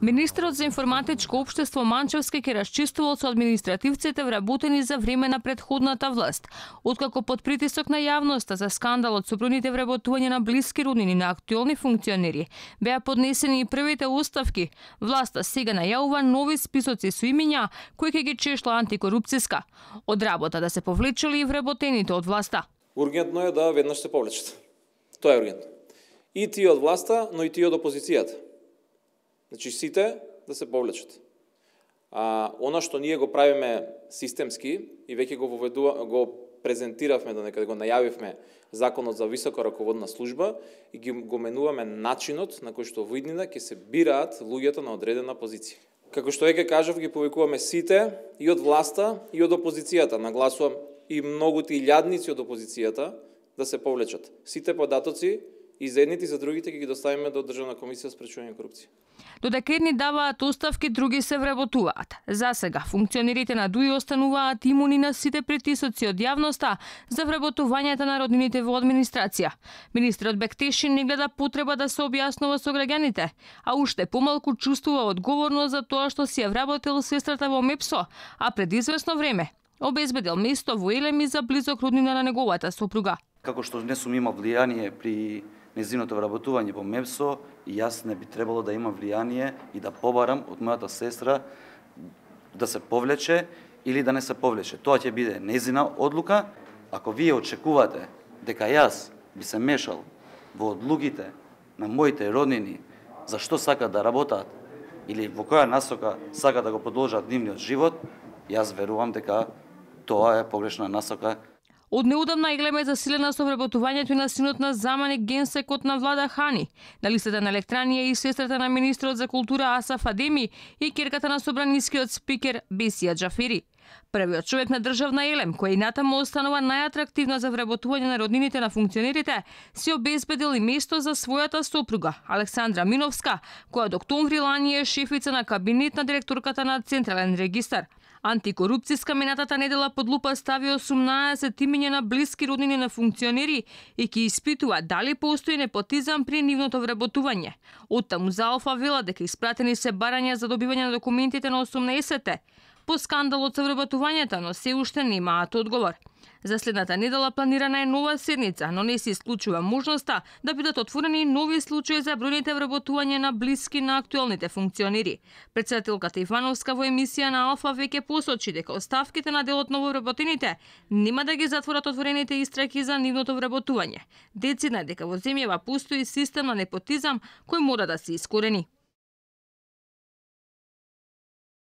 Министерот за информатичко општество Манчевски ќе расчистувал со административците вработени за време на претходната власт. Откако под притисок на јавноста за скандалот со бројните вработувања на блиски роднини на актуелни функционери беа поднесени и првите оставки, власта сега најавува нови списоци со имиња кои ќе ги чешла антикорупцијска. Од работа да се повлечели и вработените од власта. Ургентно е да веднаш се повлечат. Тоа е ургентно. И тие од власта, но и тие од опозицијата. Значи сите да се повлечат. Она што ние го правиме системски и веќе го презентиравме, да го најавивме Законот за висока раководна служба и го менуваме начинот на кој што во иднина ќе се бираат луѓето на одредена позиција. Како што веќе кажав, ги повикуваме сите и од власта и од опозицијата. Нагласувам и многуте илјадници од опозицијата да се повлечат. Сите податоци и за едните и за другите ќе ги доставиме до Државна комисија за спречување корупција. Додека едни даваат оставки, други се вработуваат. За сега функционерите на ДУИ остануваат имуни на сите притисоци од јавноста за вработувањата на роднините во администрација. Министерот Бектешин не гледа потреба да се објаснува со граѓаните, а уште помалку чувствува одговорност за тоа што си ја вработил сестрата во МЕПСО, а пред известно време обезбедил место во Елеми за близок роднина на неговата сопруга. Како што не сум имал влијание при незиното вработување во МЕПСО, и јас не би требало да имам влијание и да побарам од мојата сестра да се повлече или да не се повлече. Тоа ќе биде незина одлука. Ако вие очекувате дека јас би се мешал во одлуките на моите роднини за што сакат да работат или во која насока сакат да го продолжат нивниот живот, јас верувам дека тоа е погрешна насока. Од неудамна Елема е засилена со вработувањето на синот на заменик генсекот на Влада Хани. На листата на електранија и сестрата на министрот за култура Асаф Адеми и ќерката на собранискиот спикер Бесија Џафери. Првиот човек на државна Елем, која и натаму останува најатрактивна за вработување на роднините на функционерите, си обезбедил и место за својата сопруга, Александра Миновска, која од октомври лани е шефица на кабинет на директорката на Централен регистар. Антикорупцијска минатата недела под лупа стави 18 имиња на блиски роднини на функционери и ќе испитува дали постои непотизам при нивното вработување. Оттаму за Алфа вела дека испратени се барања за добивање на документите на 18-те по скандалот со вработувањето, но се уште немаат одговор. За следната недела планирана е нова седница, но не се исклучува можноста да бидат отворени нови случаи за бројните вработувања на блиски на актуелните функционери. Председателката Ивановска во емисија на Алфа веќе посочи дека оставките на дел од нововработените нема да ги затворат отворените истраки за нивното вработување. Децидна дека во земјава постои систем на непотизам кој мора да се искорени.